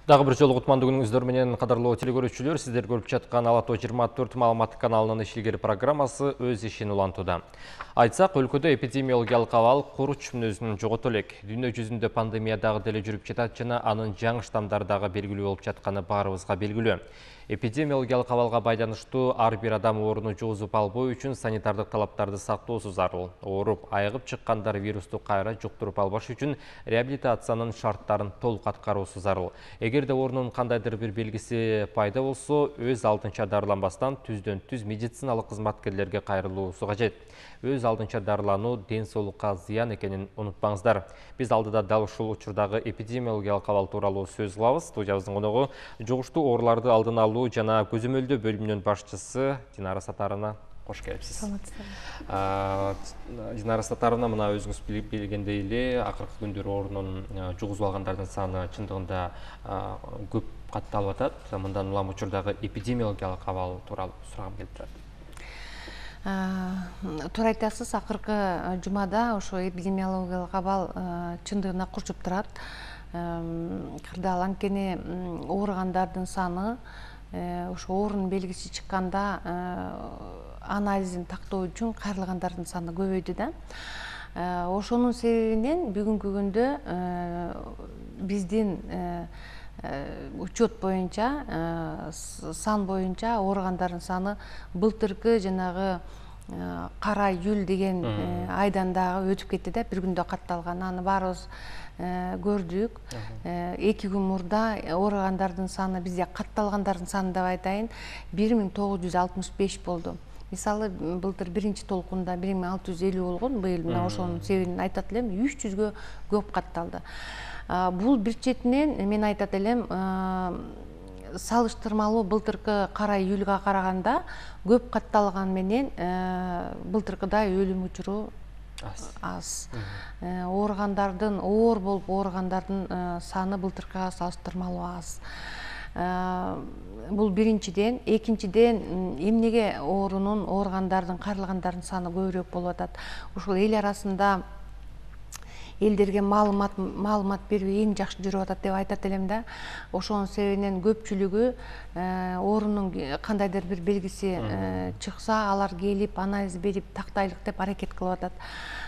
Дагы бир жолу кутмандуу күнүңүздөр менен кадырлуу телекөрүүчүлөр, сиздер көрүп жаткан Ала Тоо 24 маалыматтык каналынын ишилгери программасы өз ишин улантууда. Айтсак, өлкөдө эпидемиологиялык абал куруч мүнөзүн жогото элек. Дүйнө жүзүндө пандемия дагы деле жүрүп жатат жана анын жаңы штаммдары дагы белгилүү болуп жатканы баарыбызга белгилүү. Эпидемиологиялык абалга байланыштуу ар бир адам ооруну жугузуп албоо үчүн санитардык талаптарды сактоосу зарыл. Ооруп, айыгып чыккандар вирусту кайра жуктуруп албаш үчүн реабилитациянын шарттарын толук аткаруусу зарыл. Эгерде оорунун кандайдыр бир белгиси пайда болсо, өз алдынча дарыланбастан түздөн-түз медициналык кызматкерлерге кайрылуусу кажет. Өз алдынча дарылануу ден соолукка зыян экенин унутпаңыздар. Биз алдыда дал ушул учурдагы эпидемиологиялык абал тууралуу сөз кылабыз. Студиябыздын коногу жугуштуу ооруларды алдын алуу жана көзөмөлдөө бөлүмүнүн башчысы Динара Сатаровна. Кош келипсиз. Динара Сатаровна, мына өзүңүз билгендей эле, акыркы күндөр оорунун жугузуп алгандардын саны чындыгында көп катталып атат. Мындан улам учурдагы эпидемиологиялык абал тууралуу сурагым келип турат. Туура айтасыз, акыркы жумада ошо эпидемиологиялык абал чындыгына курчуп турат. Кырдаал анткени ооругандардын саны ошо оорунун белгиси чыкканда анализин тактоо үчүн кайрылгандардын саны көбөйдү да. Ошонун себебинен бүгүнкү күндө биздин учет боюнча, сан боюнча ооругандардын саны былтыркы жанагы кара июль деген айдан дагы өтүп кетти да, бир күндө катталган. Аны баарыбыз көрдүк. 2 күн мурда ооругандардын саны, бизде катталгандардын саны деп айтайын, 1965 болду. Мисалы, былтыр биринчи толкунда 1650 болгон, быйыл мына ошонун себебин айтат элем, 300гө көп катталды. Бул бир четинен мен айтат элем, салыштырмалуу былтыркы кара июлга караганда көп катталган менен былтыркыдай өлүм учуру аз. Ооругандардын, оор болуп ооругандардын саны былтыркыга салыштырмалуу аз. Бул биринчиден. Экинчиден, эмнеге ооругандардын, кайрылгандардын саны көбүрөөк болуп атат? Ушул эл арасында элдерге маалымат берүү эң жакшы жүрүп атат деп айтат элем да. Ошонун себебинен көпчүлүгү оорунун кандайдыр бир белгиси чыкса, алар келип анализ берип тактайлык деп аракет кылып атат.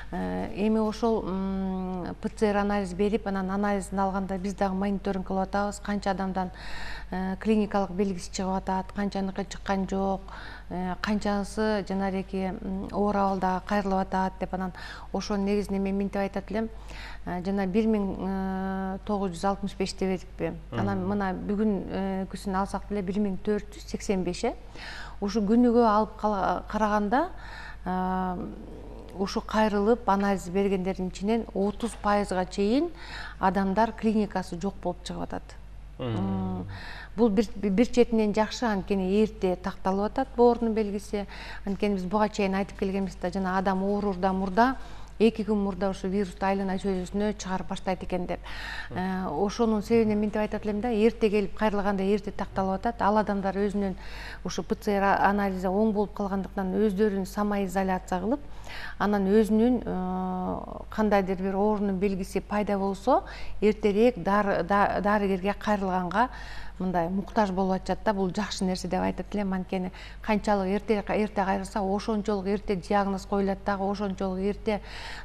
Эми ошол ПЦР анализ берип, анан анализин алганда биз дагы мониторинг кылып атабыз. Канча адамдан клиникалык белгиси чыгып атат, канчаныкы чыккан жок, канчасы жанагы оор абалда кайрылып атат деп, анан ошонун негизинде мен минтип айтат элем. Жана 1965 деп едикпи. Анан мына бүгүнкүсүн алсак деле 1485. Ушу күнүгө алып караганда ушу кайрылып анализ бергендердин ичинен 30%га чейин адамдар клиникасы жок болуп чыгып атат. Бул бир четинен жакшы, анткени эрте такталып атат бул оорунун белгиси. Анткени биз буга чейин айтып келгенбиз да, жана адам оорурда мурда 2 күн мурда ушу вирусту айлана чөйрөсүнө чыгарып баштайт экен деп. Ошонун себебинен минтип айтат элем да, эрте келип кайрылганда эрте такталып атат. Ал адамдар өзүнүн ушу ПЦР анализи оң болуп калгандыктан өздөрүн самоизоляция кылып, анан өзүнүн кандайдыр бир оорунун белгиси пайда болсо, эртерээк дарыгерге кайрылганга мындай муктаж болуп атышат да. Бул жакшы нерсе деп айтат элем, анткени канчалык эрте кайрылса, ошончолук эрте диагноз коюлат дагы, ошончолук эрте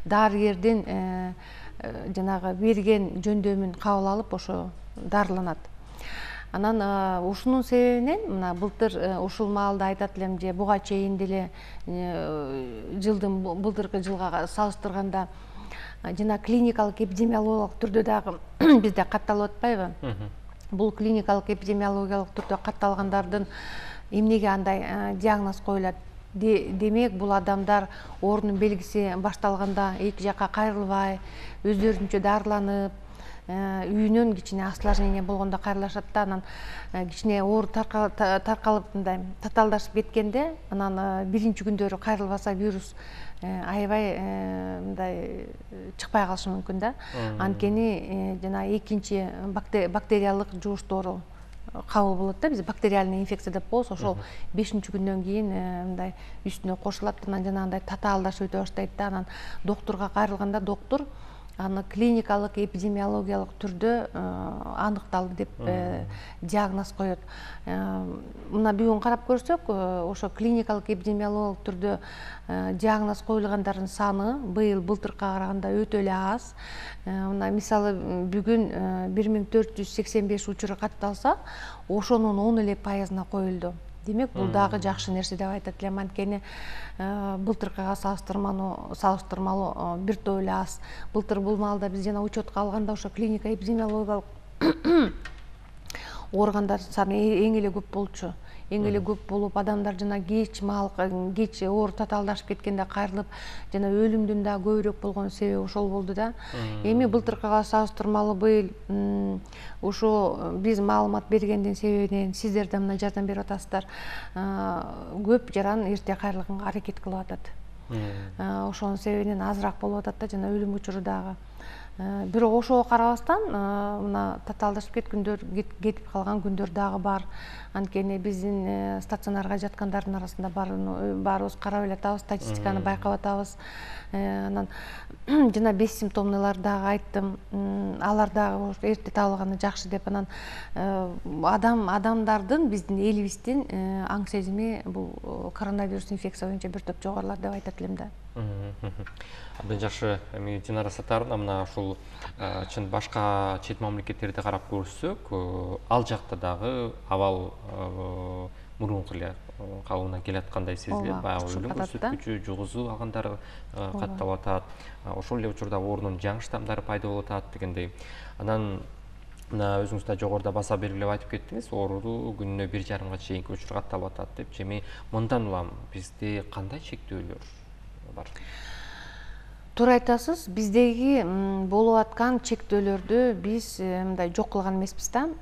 дарыгердин жанагы берген жөндөмүн кабыл алып, ошо дарыланат. Анан ушунун себебинен мына былтыр ушул маалда айтат элем, же буга чейин деле былтыркы жылга салыштырганда жана клиникалык эпидемиологиялык түрдө дагы бизде катталып атпайбы? Бул клиникалык эпидемиологиялык түрдө катталгандардын эмнеге андай диагноз коюлат? Демек, бул адамдар оорунун белгиси башталганда эки жакка кайрылбай, өздөрүнчө дарыланып, үйүнөн кичине осложнение болгондо кайрылышат да, анан кичине оору таркалып мындай татаалдашып кеткенде, анан биринчи күндөрү кайрылбаса вирус аябай мындай чыкпай калышы мүмкүн да. Анткени жана экинчи бактериялык жугуштоору кабыл болот да, биз бактериальный инфекция деп коебуз. Ошол 5-күндөн кийин мындай үстүнө кошулат, анан жанагындай татаалдашып өтө баштайт да. Анан доктурга кайрылганда доктур аны клиникалык эпидемиологиялык түрдө аныкталды деп диагноз коет. Мына бүгүн карап көрсөк, ошо клиникалык эпидемиологиялык түрдө диагноз коюлгандардын саны былтыркыга караганда өтө эле аз. Мына мисалы бүгүн 1485 учур катталса, ошонун 10% коюлду. Демек, бул дагы жакшы нерсе деп айтат элем. Анткени былтыркыга салыштырмалуу бир топ эле аз. Былтыр бул маалда биз жана учетко алганда ошо клиника эпидемиологиялык органдардын саны эң эле көп болчу. Эң эле көп болуп, адамдар жана кеч оору татаалдашып кеткенде кайрылып, жана өлүмдүн да көбүрөөк болгон себеби ошол болду да. Эми былтыркыга салыштырмалуу быйыл ошо биз маалымат бергендин себебинен сиздер да мына жардам берип атасыздар. Көп жаран эрте кайрылганга аракет кылып атат. Ошонун себебинен азыраак болуп атат да, жана өлүм учуру дагы. Бирок ошого карабастан мына татаалдашып кетип калган күндөр дагы бар. Анткени биздин стационарга жаткандардын арасында баарыбыз карап эле атабыз, статистиканы байкап атабыз. Анан жана бессимптомныйлар дагы айттым, алар дагы эрте табылганы жакшы деп. Анан адамдардын, биздин элибиздин аң сезими бул коронавирус инфекция боюнча бир топ жогорулар деп айтат элем да. Абдан жакшы. Эми Динара Сатаровна, мына ушул чын башка чет мамлекеттерди карап көрсөк, ал жакта дагы абал мурунку эле калыбына келаткандай сезилет. Баягы өлүм көрсөткүчү, жугузуу алгандар катталып атат. Ошол эле учурда оорунун жаңы штамдары пайда болуп атат дегендей. Анан мына өзүңүз да жогоруда баса белгилеп айтып кеттиңиз, оору күнүнө 1,5 чейинки учур катталып атат деп. Эми мындан улам бизде кандай чектөөлөр бар? Туура айтасыз, биздеги болуп аткан чектөөлөрдү биз мындай жок кылган эмеспиз да.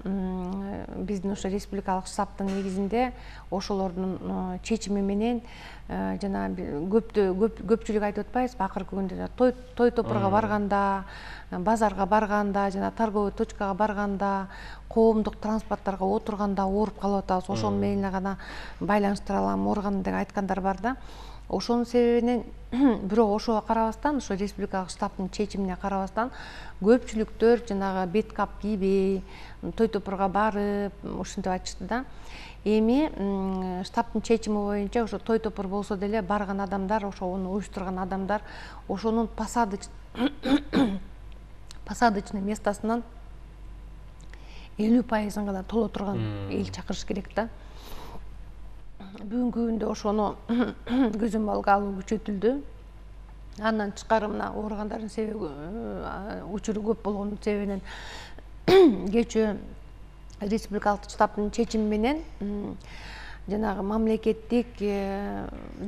Биздин ошо республикалык штабтын негизинде ошолордун чечими менен жана көпчүлүк айтып атпайбызбы, акыркы күндө той топурга барганда, базарга барганда, жана торговый точкага барганда, коомдук транспорттарга отурганда ооруп калып атабыз. Ошону менен гана байланыштыра алам, ооруган деп айткандар бар да. Ошонун себебинен, бирок ошого карабастан, ошо республикалык штабтын чечимине карабастан, көпчүлүктөр жанагы бет кап кийбей, той топурга барып, ушинтип айтышты да. Эми штабтын чечими боюнча ошо той топур болсо деле барган адамдар, ошону уюштурган адамдар ошонун посадочный местосунан 50% гана толо турган эл чакырыш керек да. Бүгүнкү күндө ошону көзөмөлгө алуу күчөтүлдү. Андан тышкары мына ооругандардын себеби учуру көп болгон себебинен кечээ республикалык штабтын чечими менен жанагы мамлекеттик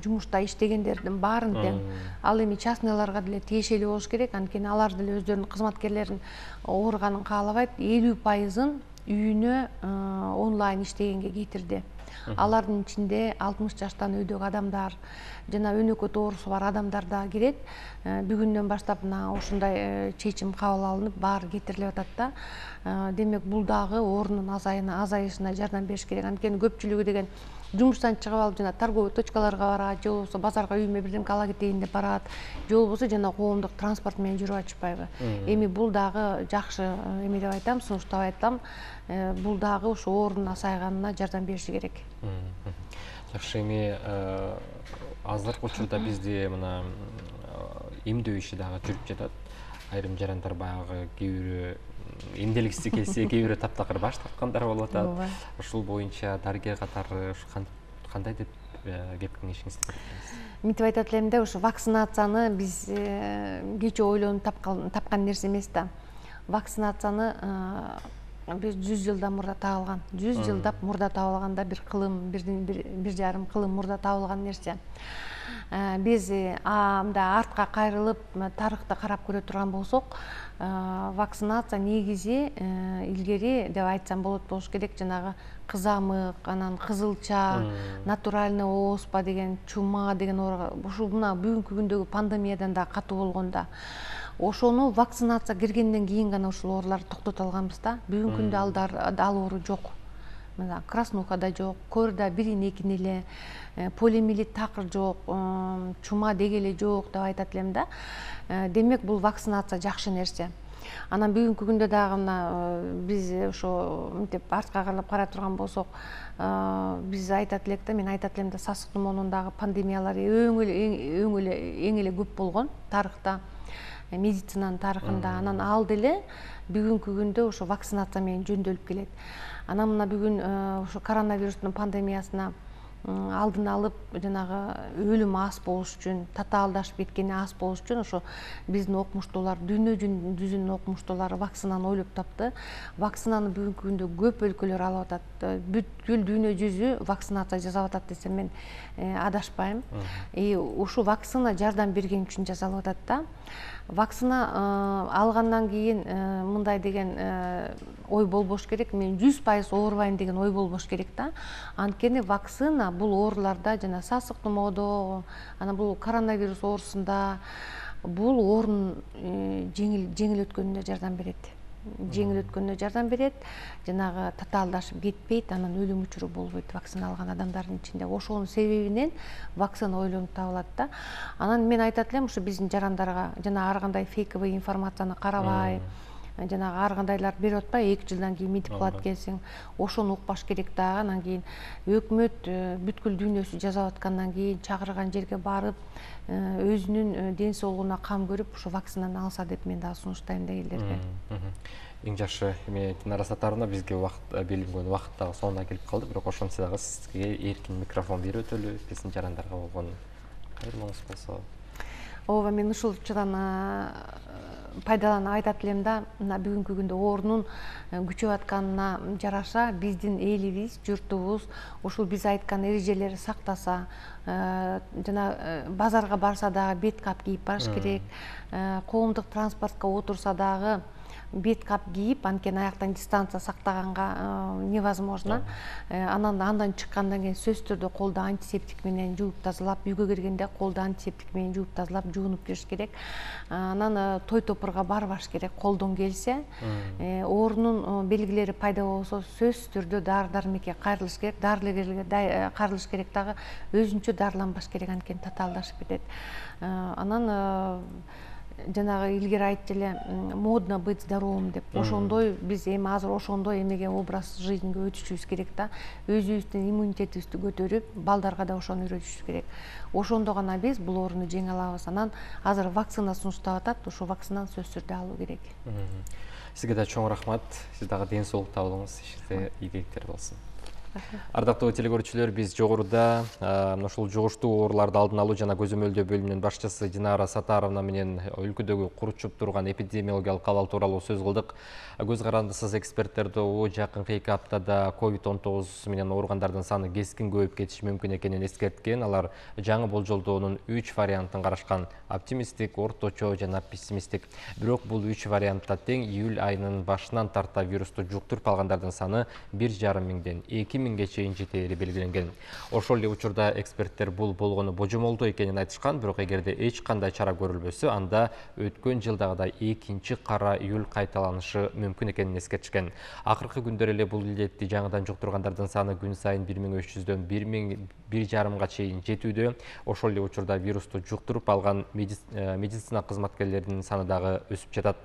жумушта иштегендердин баарын тең, ал эми частныйларга деле тиешелүү болуш керек. Анткени алар деле өздөрүнүн кызматкерлерин ооруганын каалабайт, 50%-ын үйүнө онлайн иштегенге кетирди. Алардын ичинде 60 жаштан өйдөгү адамдар жана өнөкөт оорусу бар адамдар да кирет. Бүгүндөн баштап мына ушундай чечим кабыл алынып, баары кетирилип атат да. Демек, бул дагы оорунун азайышына жардам бериш керек. Анткени көпчүлүгү деген жумуштан чыгып алып жана торговый точкаларга барат, же болбосо базарга үйүмө бирдемке ала кетейин деп барат, же болбосо жана коомдук транспорт менен жүрүп атышпайбы. Эми бул дагы жакшы эме деп айтам, сунуштап айтам. Бул дагы ошо оорунун азайганына жардам бериши керек. Жакшы. Эми азыркы учурда бизде мына эмдөө иши дагы жүрүп жатат. Айрым жарандар баягы кээ бирөө эмделгиси келсе, кээ бирөө таптакыр баш тарткандар болуп атат. Ушул боюнча дарыгер катары кандай деп кеп кеңешиңизди бересиз? Мынтип айтат элем да, ошо вакцинацияны биз кечээ ойлонуп тапкан нерсе эмес да. Вакцинацияны биз 100 жылдан мурда табылган. 100 жылдап мурда табылганда бир кылым, 1,5 кылым мурда табылган нерсе. Биз мындай артка кайрылып тарыхты карап көрө турган болсок, вакцинация негизи илгери деп айтсам болуш керек, жанагы кызамык, анан кызылча, натуральный оспа деген, чума деген ооруга, ушул мына бүгүнкү күндөгү пандемиядан да катуу болгонда, ошону вакцинация киргенден кийин гана ушул ооруларды токтото алганбыз да. Бүгүнкү күндө ал оору жок. мына краснуха да жок, корда бирин экини эле, полиомиелит такыр жок, чума деги эле жок деп айтат элем да. Демек бул вакцинация жакшы нерсе. Анан бүгүнкү күндө дагы мына биз ошо мынтип артка карап карай турган болсок, биз айтат элек да, мен айтат элем да, сасык тумоонун дагы пандемиялары эң эле көп болгон тарыхта, медицинанын тарыхында. Анан ал деле бүгүнкү күндө ошо вакцинация менен жөндөөлүп келет. Анан мына бүгүн ошо коронавирустун пандемиясына алдын алып, жанагы өлүм аз болуш үчүн, татаалдашып кеткени аз болуш үчүн ошо биздин окумуштуулар, дүйнө жүзүнүн окумуштуулары вакцинаны ойлоп тапты. Вакцинаны бүгүнкү күндө көп өлкөлөр алып атат. Бүткүл дүйнө жүзү вакцинация жасап атат десем мен адашпайм. Ушу вакцина жардам берген үчүн жасалып атат да. Вакцина алгандан кийин мындай деген ой болбош керек, мен 100% оорубайм деген ой болбош керек да. Анткени вакцина бул ооруларда, жана сасык тумоодо, анан бул коронавирус оорусунда бул оорунун жеңил өткөнүнө жардам берет. Жанагы татаалдашып кетпейт, анан өлүм учуру болбойт вакцина алган адамдардын ичинде. Ошонун себебинен вакцина ойлонуп табылат да. Анан мен айтат элем, ушу биздин жарандарга жана ар кандай фейковый информацияны карабай, жанагы ар кандайлар берип атпайбы, 2 жылдан кийин мынтип кылат экенсиң, ошону укпаш керек дагы. Анан кийин өкмөт бүткүл дүйнөсү жасап аткандан кийин чакырган жерге барып, өзүнүн ден соолугуна кам көрүп, ушу вакцинаны алса деп мен дагы сунуштайм да элдерге. Эң жакшы. Эми Динара Сатаровна, бизге белгиленген убакыт дагы соңуна келип калды, бирок ошентсе дагы сизге эркин микрофон берип өтөлү, биздин жарандарга болгон кайрымыңыз болсо. Ооба, мен ушул учурдан пайдаланып айтат элем да, мына бүгүнкү күндө оорунун күчөп атканына жараша биздин элибиз, журтубуз ушул биз айткан эрежелерди сактаса, жана базарга барса дагы бет кап кийип барыш керек, коомдук транспортко отурса дагы бет кап кийип, анткени аяктан дистанция сактаганга невозможно. Андан чыккандан кийин сөзсүз түрдө колду антисептик менен жууп тазалап, үйгө киргенде колду антисептик менен жууп тазалап, жуунуп кириш керек. Анан той топурга барбаш керек колдон келсе. Оорунун белгилери пайда болсо сөзсүз түрдө дары-дармекке кайрылыш керек, дарылегерге кайрылыш керек дагы, өзүнчө дарыланбаш керек, анткени татаалдашып кетет. Анан жанагы илгери айтчу эле, модно быть здоровым деп. Ошондой биз эми азыр ошондой эмеге образ жизньге өтүшүбүз керек да. Өзүбүздүн иммунитетибизди көтөрүп, балдарга да ошону үйрөтүшүбүз керек. Ошондо гана биз бул ооруну жеңе алабыз. Анан азыр вакцина сунуштап атат, ошол вакцинаны сөзсүз түрдө алуу керек. Сизге да чоң рахмат. Сиз дагы ден соолук табылыңыз, ишиңизде ийгиликтер болсун. Ардактуу телекөрүүчүлөр, биз жогоруда ушул жугуштуу ооруларды алдын алуу жана көзөмөлдөө бөлүмүнүн башчысы Динара Сатаровна менен өлкөдөгү куручуп турган эпидемиологиялык абал тууралуу сөз кылдык. Көз карандысыз эксперттерди жакынкы 2 аптада COVID-19 менен ооругандардын саны кескин көбөйүп кетиши мүмкүн экенин эскерткен. Алар жаңы болжолдоонун 3 вариантын карашкан: оптимисттик, орточо жана пессимисттик. Бирок бул 3 вариантта тең июль айынын башынан тарта вирусту жуктуруп алгандардын саны 1,5 миңден 2 миңге чейин жетери белгиленген. Ошол эле учурда эксперттер бул болгону божомолдоо экенин айтышкан, бирок эгерде эч кандай чара көрүлбөсө, анда өткөн жылдагыдай экинчи кара июль кайталанышы мүмкүн экенин эскертишкен. Акыркы күндөр эле бул илдетти жаңыдан жуктургандардын саны күн сайын 1300дөн 1,5 чейин жетүүдө. Ошол эле учурда вирусту жуктуруп алган медицина кызматкерлеринин саны дагы өсүп жатат.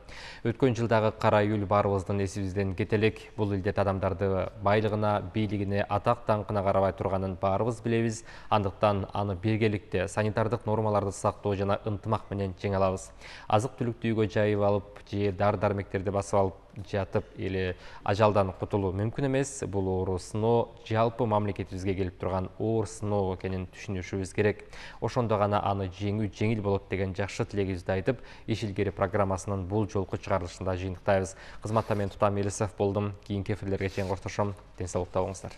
Өткөн жылдагы кара июль баарыбыздын эсибизден кете элек. Бул илдет адамдарды байлыгына, бийлигине, атак даңкына карабай турганын баарыбыз билебиз. Андыктан аны биргеликте санитардык нормаларды сактоо жана ынтымак менен жеңе алабыз. Азык-түлүктү үйгө жайып алып же дары-дармектерди басып алып жатып эле ажалдан кутулуу мүмкүн эмес. Бул оору сыноо жалпы мамлекетибизге келип турган оор сыноо экенин түшүнүшүбүз керек. Ошондо гана аны жеңүү жеңил болот деген жакшы тилегибизди айтып, Иш илгери программасынын бул жолку чыгарылышында жыйынтыктайбыз. Кызматта мен Тутам Элисов болдум. Кийинки эфирлерге чейин коштошом. Ден соолукта болуңуздар.